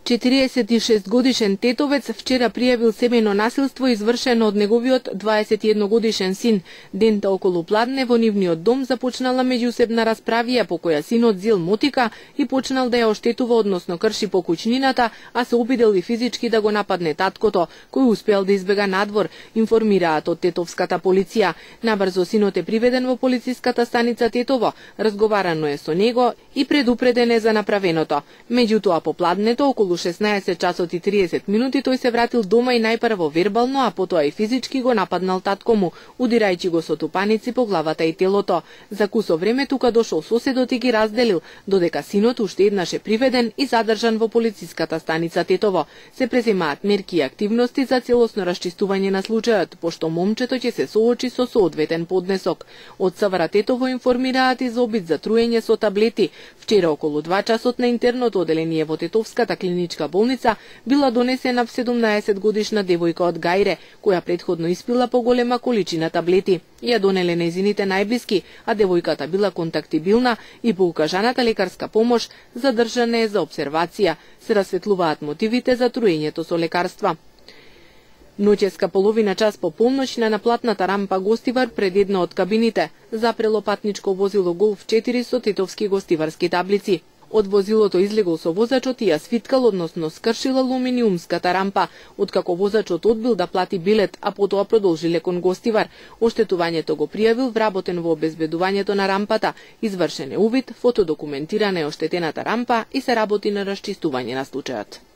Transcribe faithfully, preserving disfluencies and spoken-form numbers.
четириесет и шест годишен тетовец вчера пријавил семејно насилство извршено од неговиот дваесет и едногодишен син. Дента околу пладне во нивниот дом започнала меѓусебна расправија по која синот зел мотика и почнал да ја оштетува, односно крши покуќнината, а се обидел и физички да го нападне таткото, кој успеал да избега надвор, информираат од тетовската полиција. Набрзо синот е приведен во полициската станица Тетово, разговарано е со него и предупреден е за направеното. Меѓутоа по пладнето околу шеснаесет часот и триесет минути тој се вратил дома и најпрво вербално, а потоа и физички го нападнал татко му, удирајќи го со тупаници по главата и телото. За кусо време тука дошол соседот и ги разделил, додека синот уште еднаш е приведен и задржан во полициската станица Тетово. Се преземаат мерки и активности за целосно расчистување на случајот, пошто момчето ќе се соочи со соодветен поднесок. Од СВР Тетово информираат и за обид за труење со таблети. Вчера околу два часот на интерното оделение во Тетовската клиничка болница била донесена седумнаесет годишна девојка од Гајре, која претходно испила поголема количина таблети. Ја донеле нејзините најблиски, а девојката била контактибилна и по укажаната лекарска помош задржана е за обсервација. Се расветлуваат мотивите за труењето со лекарства. Ноќеска половина час по полноќ на наплатната рампа Гостивар пред една од кабините запрело патничко возило Голф четири со тетовски гостиварски таблици. Од возилото излегол со возачот и ја свиткал, односно скршил алуминиумската рампа, откако возачот одбил да плати билет, а потоа продолжиле кон Гостивар. Оштетувањето го пријавил вработен во обезбедувањето на рампата, извршен е увид, фотодокументирана е оштетената рампа и се работи на расчистување на случајот.